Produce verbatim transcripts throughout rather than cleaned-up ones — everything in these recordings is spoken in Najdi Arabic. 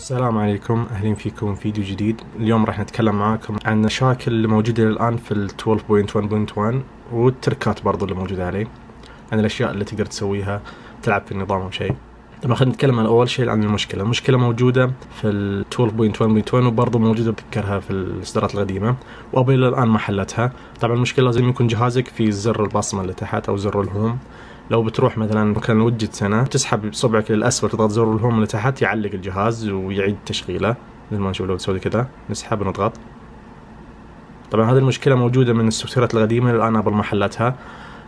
السلام عليكم، أهلين فيكم فيديو جديد. اليوم راح نتكلم معاكم عن المشاكل اللي موجودة الآن في ال اثناشر نقطة واحد نقطة واحد والتركات برضو اللي موجودة عليه، عن الأشياء اللي تقدر تسويها تلعب في النظام أو شيء. طبعا خلينا نتكلم عن أول شيء عن المشكلة. المشكلة موجودة في ال اثناشر نقطة واحد نقطة واحد وبرضو موجودة بتذكرها في الإصدارات القديمة، وأبل الآن ما حلتها. طبعا المشكلة لازم يكون جهازك في زر البصمة اللي تحت أو زر الهوم. لو بتروح مثلا مكان وجت هنا تسحب صبعك للأسفل تضغط زر الهوم اللي تحت يعلق الجهاز ويعيد تشغيله. مثل ما نشوف لو تسوي كذا نسحب ونضغط. طبعا هذه المشكلة موجودة من السوفتويرات القديمة الآن أبل ما حلتها.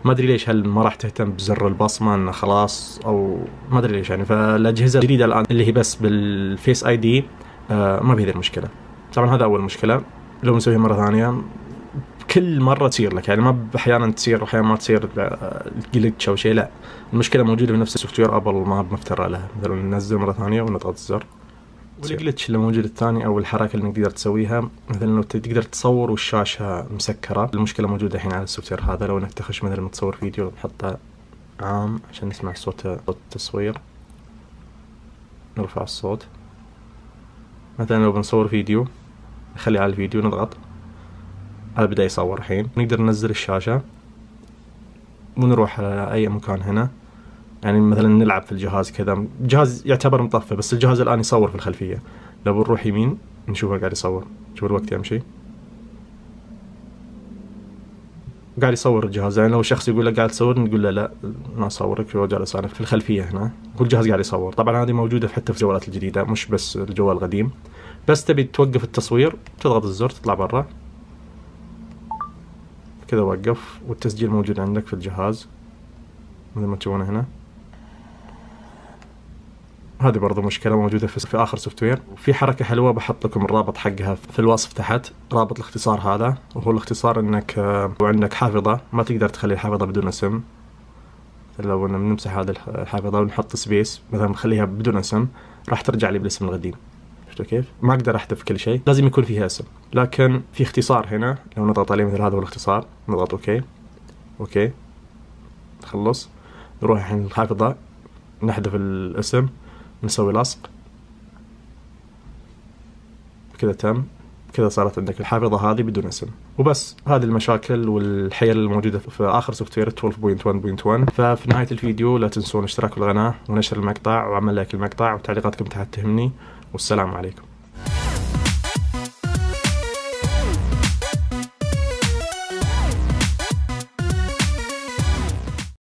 ما أدري ليش، هل ما راح تهتم بزر البصمة إنه خلاص أو ما أدري ليش يعني. فالأجهزة الجديدة الآن اللي هي بس بالفيس آي دي آه ما بهذه المشكلة. طبعا هذا أول مشكلة. لو نسويها مرة ثانية كل مرة تصير لك يعني، ما أحيانا تصير وأحيانا ما تصير جلتش أو شيء. لا، المشكلة موجودة في نفس السوفت وير، أبل ما بمفترى لها. مثلا ننزل مرة ثانية ونضغط الزر، والجلتش اللي موجود الثاني أو الحركة اللي نقدر تسويها مثلا لو تقدر تصور والشاشة مسكرة. المشكلة موجودة الحين على السوفت وير هذا. لو إنك تخش مثلا متصور فيديو نحطه عام عشان نسمع صوت صوت التصوير، نرفع الصوت. مثلا لو بنصور فيديو نخلي على الفيديو نضغط، هذا بدأ يصور. الحين نقدر ننزل الشاشة ونروح على أي مكان هنا، يعني مثلا نلعب في الجهاز كذا. الجهاز يعتبر مطفى بس الجهاز الآن يصور في الخلفية. لو بنروح يمين نشوفه قاعد يصور، شوف الوقت يمشي قاعد يصور الجهاز. يعني لو شخص يقول لك قاعد تصور نقول له لا ما أصورك، هو جالس أنا في الخلفية هنا والجهاز قاعد يصور. طبعا هذه موجودة حتى في الجوالات الجديدة مش بس الجوال القديم. بس تبي توقف التصوير تضغط الزر تطلع برا كذا، وقف والتسجيل موجود عندك في الجهاز مثل ما تشوفونه هنا. هذه برضو مشكلة موجودة في, في آخر سوفت وير. وفي حركة حلوة بحط لكم الرابط حقها في الوصف تحت، رابط الاختصار هذا. وهو الاختصار انك وعندك حافظة ما تقدر تخلي الحافظة بدون اسم. لو نمسح هذه الحافظة ونحط سبيس مثلا نخليها بدون اسم راح ترجع لي بالاسم القديم. شفتوا كيف؟ ما اقدر احذف كل شيء، لازم يكون فيها اسم. لكن في اختصار هنا لو نضغط عليه مثل هذا هو الاختصار، نضغط اوكي اوكي نخلص. نروح الحين الحافظة نحذف الاسم، نسوي لصق كذا تم. كذا صارت عندك الحافظة هذه بدون اسم. وبس هذه المشاكل والحيل الموجودة في آخر سوفت وير اثناشر نقطة واحد نقطة واحد. ففي نهاية الفيديو لا تنسون اشتراك بالقناة ونشر المقطع وعمل لايك المقطع وتعليقاتكم تحت تهمني. والسلام عليكم.